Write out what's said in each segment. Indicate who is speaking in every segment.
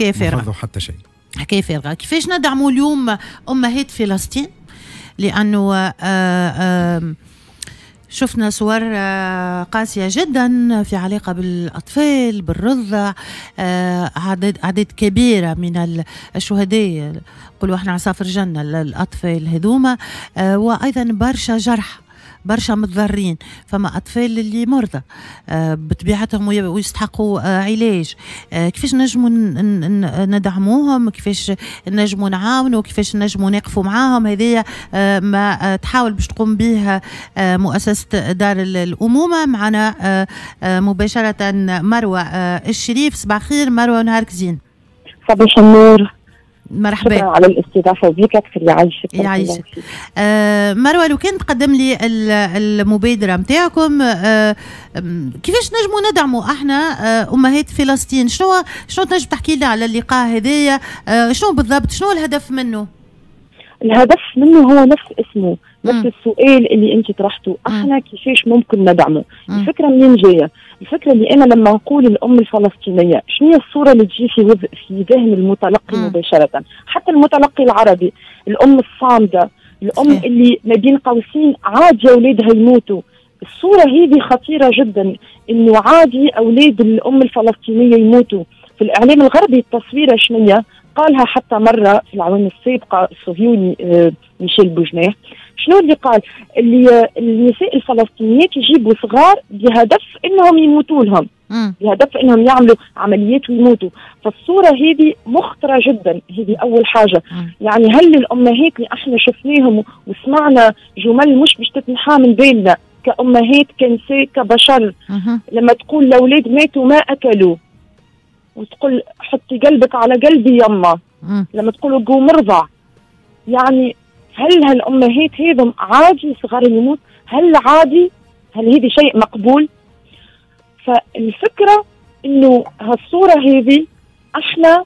Speaker 1: حكاية فارغة،
Speaker 2: ما حتى شيء،
Speaker 1: حكاية فارغه. كيفاش ندعموا اليوم امهات فلسطين؟ لانه شفنا صور قاسية جدا في علاقة بالأطفال، بالرضع، أعداد كبيرة من الشهداء، نقولوا احنا عصافر الجنة الأطفال هذوما، وأيضا برشا جرح، برشا متضررين، فما اطفال اللي مرضى بطبيعتهم ويستحقوا علاج. كيفاش نجموا ندعموهم؟ كيفاش نجموا نعاونوا؟ كيفاش نجموا نقفوا معاهم؟ هذه ما تحاول باش تقوم به مؤسسة دار الأمومة. معنا مباشرة مروة الشريف. صباح الخير مروة، نهارك زين.
Speaker 3: صباح النور،
Speaker 1: مرحبا.
Speaker 3: شكرا على الاستضافة وبيك أكثر. يعيشك.
Speaker 1: يعيشك. مروة، لو كان تقدم لي المبادرة نتاعكم، كيفاش نجموا ندعموا احنا أمهات فلسطين؟ شنو تنجم تحكي لنا على اللقاء هذايا؟ شنو بالضبط، شنو الهدف منه؟
Speaker 3: الهدف منه هو نفس اسمه، نفس السؤال اللي انت طرحته، احنا كيفاش ممكن ندعمه؟ الفكرة منين جاية؟ الفكرة اللي انا لما نقول الام الفلسطينية، شنو هي الصورة اللي تجي في ذهن المتلقي مباشرة، حتى المتلقي العربي؟ الام الصامده، الام اللي ما بين قوسين عادي اولادها يموتوا. الصورة هذه خطيرة جدا، انه عادي اولاد الام الفلسطينية يموتوا. في الاعلام الغربي التصويره شنية؟ قالها حتى مرة في العوام السابقة الصهيوني ميشيل بوجناح. شنو اللي قال؟ اللي النساء الفلسطينيات يجيبوا صغار بهدف انهم يموتوا لهم، بهدف انهم يعملوا عمليات ويموتوا. فالصورة هذه مخطرة جدا، هذه اول حاجة. يعني هل الامهات اللي احنا شفناهم وسمعنا جمل مش باش تتنحى من بالنا كأمهات، كنساء، كبشر، لما تقول الاولاد ماتوا ما اكلوا، وتقول حطي قلبك على قلبي يما، لما تقولوا قوم ارضع، يعني هل هالامهات هذم عادي صغار يموت؟ هل عادي؟ هل هذه شيء مقبول؟ فالفكرة انه هالصورة هذه احنا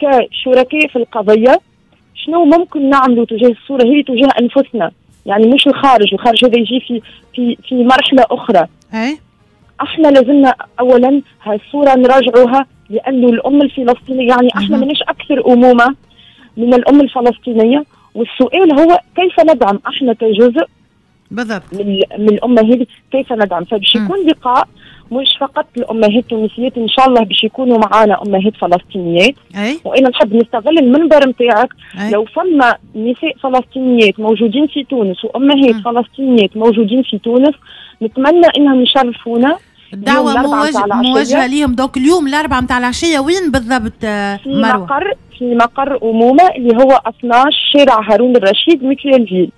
Speaker 3: كشركاء في القضية شنو ممكن نعملوا تجاه الصورة هذه، تجاه انفسنا، يعني مش الخارج، الخارج هذا يجي في في في مرحلة اخرى.
Speaker 1: اي
Speaker 3: احنا لازمنا اولا هالصورة نراجعوها، لانه الام الفلسطينية يعني احنا ماناش اكثر امومه من الام الفلسطينية. والسؤال هو كيف ندعم احنا كجزء
Speaker 1: بالضبط
Speaker 3: من الامة هذه، كيف ندعم؟ فباش يكون لقاء مش فقط الامهات التونسيات، ان شاء الله باش يكونوا معانا امهات فلسطينيات. وانا نحب نستغل المنبر نتاعك، لو فما نساء فلسطينيات موجودين في تونس وامهات فلسطينيات موجودين في تونس، نتمنى انهم يشرفونا.
Speaker 1: الدعوة موجهة ليهم. donc اليوم الأربعة متاع العشية وين بالضبط مروة؟
Speaker 3: في مقر أمومة اللي هو 12 شارع هارون الرشيد Mutuelleville،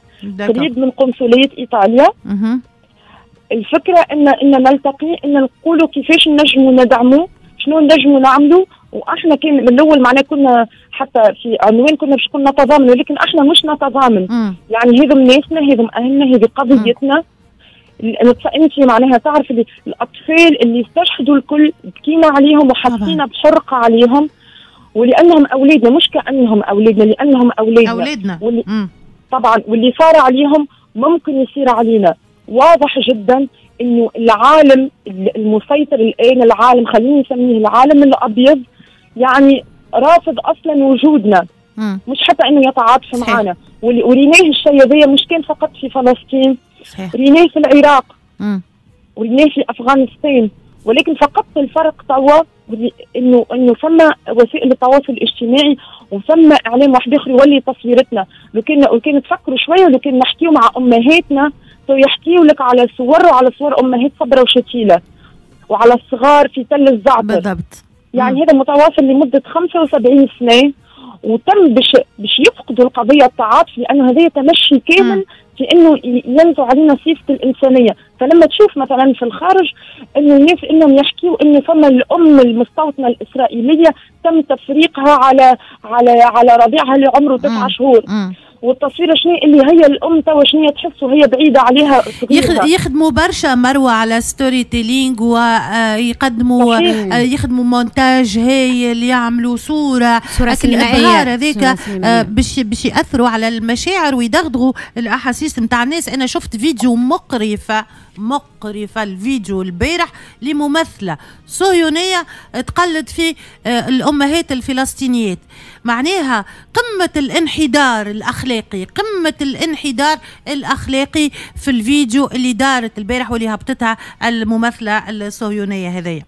Speaker 3: قريب من قنصلية إيطاليا. الفكرة إن نلتقي، إن نقولوا كيفاش نجموا ندعموا، شنو نجموا نعملوا. وإحنا كان من الأول معناه كنا حتى في عنوان كنا باش كنا نتضامن، ولكن إحنا مش نتضامن. يعني هذم ناسنا، هذم أهلنا، هذه قضيتنا. انت معناها تعرف اللي الاطفال اللي استشهدوا الكل بكينا عليهم وحسينا بحرقه عليهم، ولانهم اولادنا، مش كانهم اولادنا، لانهم اولادنا. طبعا واللي صار عليهم ممكن يصير علينا. واضح جدا انه العالم المسيطر الان، العالم خلينا نسميه العالم الابيض، يعني رافض اصلا وجودنا، مش حتى انه يتعاطف معنا. وريناه الشيء هذايا مش كان فقط في فلسطين، ريناه في العراق، وريناه في افغانستان، ولكن فقط الفرق توا انه فما وسائل التواصل الاجتماعي وفما اعلام واحد اخر يولي تصويرتنا. لو كان تفكروا شوية، لو كان نحكيو مع امهاتنا تو يحكيوا لك على صور، وعلى صور امهات صبره وشتيله، وعلى الصغار في تل الزعتر
Speaker 1: بالضبط.
Speaker 3: يعني هذا متواصل لمدة 75 سنة، وتم باش يفقدوا القضية التعاطف، لانه هذا تمشي كامل في انه ينزع علينا صفة الانسانية. فلما تشوف مثلا في الخارج انه الناس انهم يحكيوا انه فما الام المستوطنه الاسرائيلية تم تفريقها على على على رضيعها اللي عمره 9 شهور، والتصويره شنو اللي هي الام توا شنو تحس وهي بعيدة عليها.
Speaker 1: يخدموا برشا مروه على storytelling، ويقدموا يخدموا مونتاج هايل، يعملوا صوره سينمائية هذيك باش ياثروا على المشاعر ويدغدغوا الاحاسيس نتاع الناس. انا شفت فيديو مقرف مقرفة الفيديو البارح لممثلة صهيونية تقلد في الأمهات الفلسطينيات. معناها قمة الانحدار الأخلاقي، قمة الانحدار الأخلاقي في الفيديو اللي دارت البارح واللي هبطتها الممثلة الصهيونية هذيا.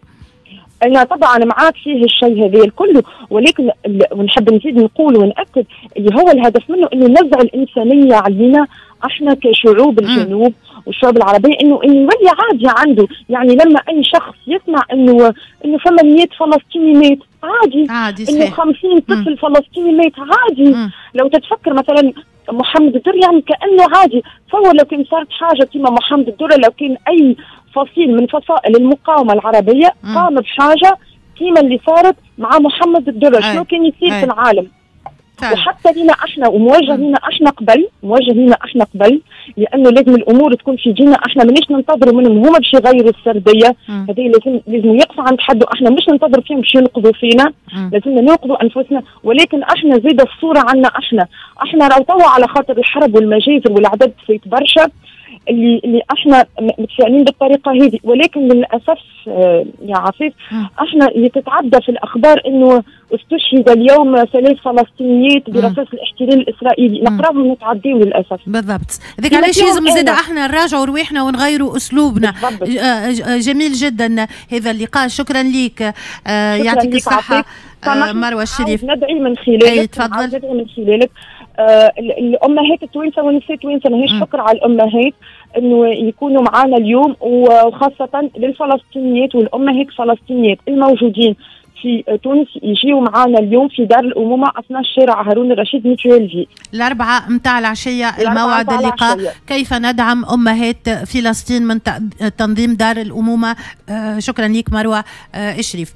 Speaker 3: أنا طبعا معاك فيه الشيء هذا الكل، ولكن ونحب نزيد نقول ونأكد اللي هو الهدف منه انه نزع الإنسانية علينا احنا كشعوب الجنوب والشعوب العربية، انه يولي عادي عنده. يعني لما اي شخص يسمع انه فما 100 فلسطيني مات عادي، عادي انه 50 طفل فلسطيني مات عادي. لو تتفكر مثلا محمد الدر يعني كانه عادي. فهو لو كان صارت حاجة كما محمد الدر، لو كان اي فصيل من فصائل المقاومة العربية قام بحاجة كما اللي صارت مع محمد الدر، شنو كان يصير في العالم؟ وحتى لنا احنا وموجه لنا احنا قبل، موجه لنا احنا قبل، لانه لازم الامور تكون في جينا احنا، مانيش ننتظروا منهم هما باش يغيروا السردية هذه، لازم يقفوا عند حد، احنا مش ننتظر فيهم باش ينقذوا فينا، لازمنا ننقذوا انفسنا. ولكن احنا زيد الصورة عنا احنا راهو توا على خاطر الحرب والمجازر والعدد فايت برشا اللي احنا متفائلين بالطريقة هذه. ولكن للاسف يا عفيف احنا اللي تتعدى في الاخبار انه استشهد اليوم 3 فلسطينيات برصاص الاحتلال الاسرائيلي، نقراهم ونتعديو للاسف.
Speaker 1: بالضبط، هذاك علاش لازم زاد احنا نراجعوا رواحنا ونغيروا اسلوبنا. جميل جدا هذا اللقاء، شكرا لك، يعطيك الصحة مروه الشريف.
Speaker 3: ندعي من خلالك، تفضل. ندعي من خلالك الامهات التوانسة والنساء التوانسة، ماهيش فكرة على الامهات انه يكونوا معنا اليوم، وخاصة للفلسطينيات والامهات الفلسطينيات الموجودين في تونس يجيوا معنا اليوم في دار الامومة 12 شارع هارون الرشيد Mutuelleville،
Speaker 1: 4 متاع العشية الموعد اللقاء. كيف ندعم امهات فلسطين من تنظيم دار الامومة. شكرا لك مروه الشريف.